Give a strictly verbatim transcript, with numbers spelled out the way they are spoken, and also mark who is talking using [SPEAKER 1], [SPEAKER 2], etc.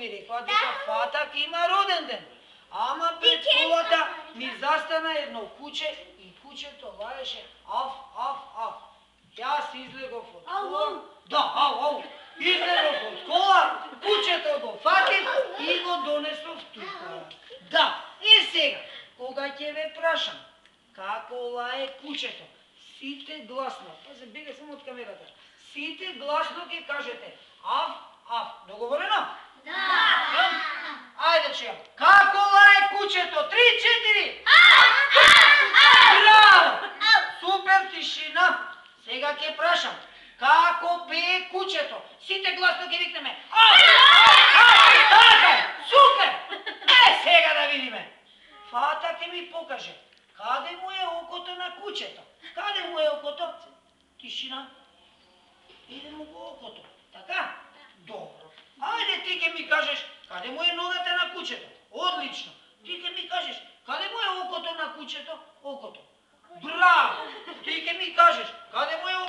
[SPEAKER 1] ми рекла дека Фатак има роден ден. Ама пред колата ми застана едно куче и кучето лаеше аф, аф, аф. Јас излегов од кола. Да, ау, ау. Излегов од кола, кучето го фатив и го донесов тука. Да, и сега, кога ќе ве прашам како лае кучето, сите гласно, пази, бегај само од камерата, сите гласно ќе кажете аф, аф. Договорено? Да. Ајде чујам. Како лае кучето? Три, четири. Браво! Супер, тишина. Сега ќе прашам. Како пее кучето? Сите гласно ќе викнеме. Така е. Супер! Е, сега да видиме. Фата ќе ми покаже. Каде му е окото на кучето? Каде му е окото? Тишина. Иде му го окото. Така? Добро. Ајде ти ќе ми кажеш каде му е ногата на кучето. Одлично. Ти ќе ми кажеш каде му е окото на кучето? Окото. Браво! Ти ќе ми кажеш каде му е окото